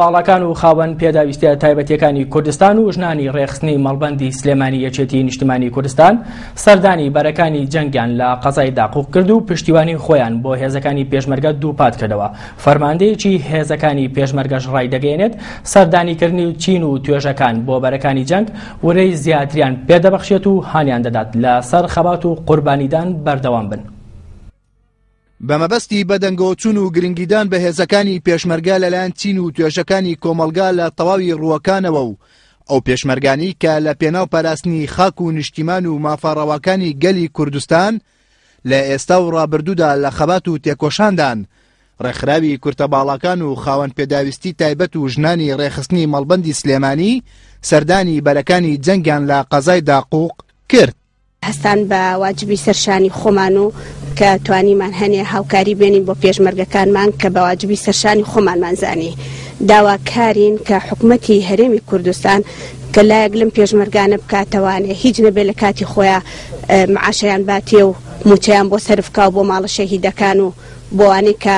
باڵاکان و خاوەن پێداویستیە تایبەتیەکانی کوردستان و ژنانی ڕێکخستنی مەڵبەندی سلێمانی یەکێتی نیشتمانی کوردستان سەردانی بەرەکانی جەنگیان لە قەزای داقوق کرد و پشتیوانی خۆیان بۆ هێزەکانی پێشمەرگە دووپات کردەوە. فەرماندەیەکی هێزەکانی پێشمەرگەش ڕایدەگەیەنێت سەردانیکردنی چین و توێژەکان بۆ بەرەکانی جەنگ ورەی زیاتریان پێدەبەخشێت و هانیان دەدات لەسەر خەبات و قوربانیدان بەردەوام بن. بە مەبەستی بەدەنگەوەچوون و گرنگیدان بە هێزەکانی پێشمەرگە لەلایەن چین و توێژەکانی کۆمەڵگا لە تەواوی ڕووەکانەوە و ئەو پێشمەرگانەی کە لە پێناو پاراستنی خاک و نیشتیمان و مافە ڕەواکانی گەلی کوردستان لە ئێستا و ڕابردوودا لە خەبات و تێکۆشاندان، ڕێکخراوی کورتە باڵاکان و خاوەن پێداویستی تایبەت و ژنانی ڕێکخستنی مەڵبەندی سلێمانی سەردانی بەرەکانی جەنگیان لە قەزای داقوق کرد. هەستان بە واجبی سەر شانی خۆمان و کە توانیمان هەنێ هاوکاری بێنین بۆ پێشمەرگەکانمان کە بە واجبی سەر شانی خۆمانمان زانی. داواکارین کە حکومەتی هەرێمی کوردستان کە لایەک لەم پێشمەرگانە بکاتەوانێ هیچ نەبێ لە کاتی خۆیا معاشیان باتێ و موچەیان بۆ سەرف کا و بۆ ماڵە شەهیدەکان و بۆوانەی کە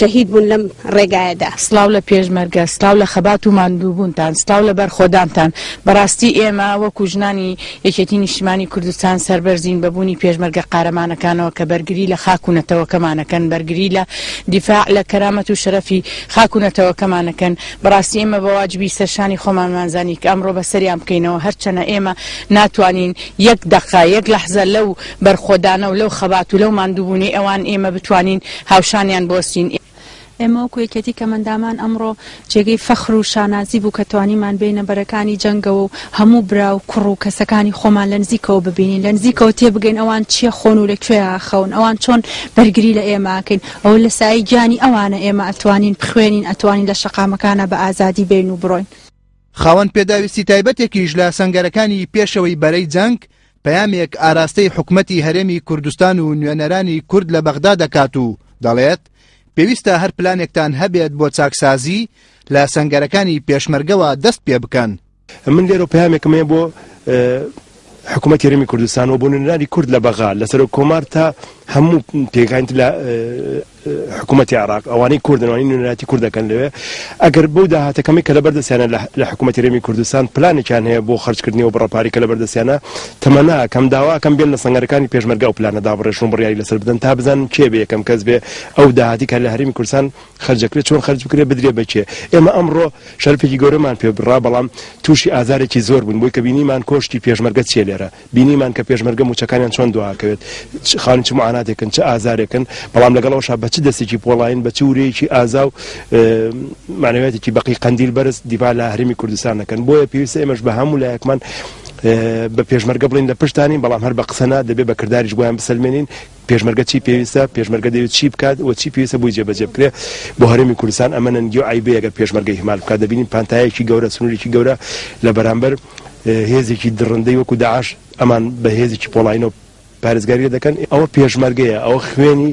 شەهید بوون لەم ڕێگایەدا. سڵاو لە پێشمەرگە، سڵاو لە خەبات و ماندووبوونتان، سڵاو لە بەرخۆدانتان. بەڕاستی ئێمە وەکو ژنانی یەکێتی نیشتیمانی کوردستان سەربەرزین بە بوونی پێشمەرگە قارەمانەکانەوە کە بەرگری لە خاک و نەتەوەکەمان ئەکەن، بەرگری لە دیفاع لە کەرامەت و شەرەفی خاک و نەتەوەکەمان ئەکەن. بەڕاستی ئێمە بە واجبی سەرشانی خۆمانمان زانی کە ئەمڕۆ بەسەریان بکەینەوە، هەرچەنە ئێمە ناتوانین یەک دەقە، یەک لەحزە لەو بەرخۆدانە و لەو خەبات و لەو ماندووبوونەی ئەوان ئێمە بتوانین هاوشانیان بوەستین. ئێمە وەکو یەکێتی کەمەندامان ئەمڕۆ جێگەی فەخر و شانازی بوو کە توانیمان بێینە بەرەکانی جەنگەوە و هەموو برا و کوڕ و کەسەکانی خۆمان لە نزیکەوە ببینین، لە نزیکەوە تێبگەین ئەوان چیە خۆن و لە کوێیا ئەخەون، ئەوان چۆن بەرگری لە ئێمە ئەکەین، ئەوە لە سایەی گیانی ئەوانە ئێمە ئەتوانین بخوێنین، ئەتوانین لە شەقامەکانا بە ئازادی بێین و بڕۆین. خاوەن پێداویستی تایبەتێکیش لە سەنگەرەکانی پێشەوەی بەرەی جەنگ، پەیامێک ئاراستەی حکومەتی هەرێمی کوردستان و نوێنەرانی کورد لە بەغدا دەکات و دەڵێت، پێویستە هەر پلانێکتان هەبێت بۆ چاکسازی، لە سەنگەرەکانی پێشمەرگەوە دەست پێبکەن. من لێرەوە پەیامێکم هەیە بۆ حکوومەتی هەرێمی کوردستان و بۆ نوێنەرانی کورد لە بەغا لە سەرۆک کۆمار تا هەموو پێکهاتەی لە حکوومەتی عێراق ئەوانەی کوردن ئەوانەی نوێنەرایەتی کورد دەکەن لەوێ ئەگەر بەو داهاتە کەمەی کە لەبەر دەستیانە لە حکوومەتی هەرێمی کوردستان پلانێکیان هەیە بۆ خەرجکردنی ئەو بڕە پارەی کە لەبەر دەستیانە تەمەنا ئەکەم داوا ئەکەم بێن لە سەنگەرەکانی پێشمەرگە ئەو پلانە دابڕێژن و بڕیاری لەسەر بدەن تا بزانن کێ بێ یەکەم کەس بێ ئەو داهاتی کە لە هەرێمی کوردستان خەرج دەکرێت چۆن خەرج بکرێت بدرێ بە کێ؟ ئێمە ئەمڕۆ شەرەفێکی گەورەمان پێ بڕا بەڵام تووشی ئازارێکی زۆر بووین بۆی کە بینیمان کۆشکی پێشمەرگە چیە لێرە بینیمان کە پێشمەرگە مووچەکانیان چۆن دواکەوێت خاوەنی چ معاناتێکن چ ئازارێکن بەڵام لەگەڵ ئەوشا بە چ دەستێکی پۆڵاین بە چ ورەیەکی ئازا و معنەویاتێکی بەقی قەندیل بەرز دیفاع لە هەرێمی کوردستان دەکەن بۆیە پێویستە ئێمەش بە هەموو لایەکمان بە پێشمەرگە بڵین لە پشتانین بەڵام هەر بە قسە نا دەبێ بە کرداریش بۆیان بسەلمێنین پێشمەرگە چی پێویستە، پێشمەرگە دەیەوێت چی بکات و چی پێویستە بۆی جێبەجێ بکرێت بۆ هەرێمی کوردستان، ئەمە نەنگی و عەیبەیە گەر پێشمەرگە ئیهمال بکات، دەبینین پانتایەکی گەورە، سنوورێکی گەورە لە بەرامبەر هێزێکی دڕندەی وەکو داعش ئەمان بە هێزێکی پۆڵاینەوە پارێزگاری لێ دەکەن، ئەوە پێشمەرگەیە، ئەوە خوێنی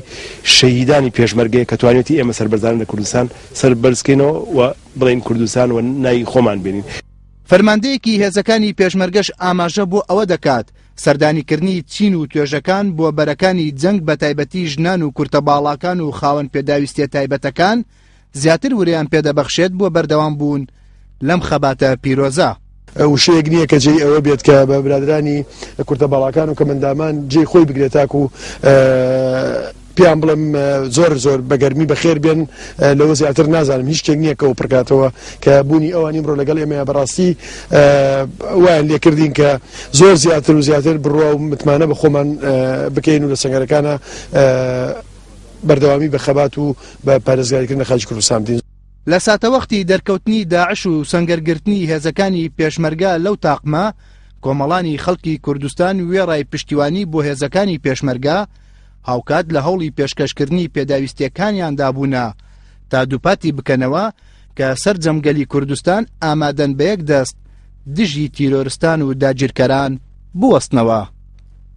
شەهیدانی پێشمەرگەیە کە توانیویەتی ئێمە سەربەرزانە لە کوردستان سەر بەرزکەینەوە و بڵێین کوردستان و ناوی خۆمان بێنین. فەرماندەیەکی هێزەکانی پێشمەرگەش ئاماژە بۆ ئەوە دەکات، سەردانیکردنی چین و توێژەکان بۆ بەرەکانی جەنگ بەتایبەتی ژنان و کورتە باڵاکان و خاوەن پێداویستیە تایبەتەکان زیاتر ورەیان پێدەبەخشێت بۆ بەردەوام بوون لەم خەباتە پیرۆزە. وشەیەک نییە کە جێی ئەوە بێت کە بە برادرانی کورتە باڵاکان و کەمەندامان جێی خۆی بگرێت تاکو پێیان بڵێم زۆر زۆر بە گەرمی بەخێر بێن لەوە زیاتر نازانم هیچ شتێک نییە کە ئەو پڕکاتەوە کە بوونی ئەوان ئیمڕۆ لەگەڵ ئێمەیە بەڕاستی وایان لێکردین کە زۆر زیاتر و زیاتر بڕوا و متمانە بە خۆمان بکەین و لە سەنگەرەکانە بەردەوامی بە خەبات و بە پارێزگاریکردن لە خاکی کوردستان بدەین. لە ساتەوەختی دەرکەوتنی داعش و سەنگەرگرتنی هێزەکانی پێشمەرگە لەو تاقمە، کۆمەڵانی خەڵکی کوردستان وێڕای پشتیوانی بۆ هێزەکانی پێشمەرگە، هاوکات لە هەوڵی پێشکەشکردنی پێداویستییەکانیاندا بوونە تا دووپاتی بکەنەوە کە سەرجەم گەلی کوردستان ئامادەن بە یەک دەست دژی تیرۆرستان و داگیرکەران بوەستنەوە.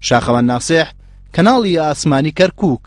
شاخەوان ناسێح، کەناڵی ئاسمانی کەرکووک.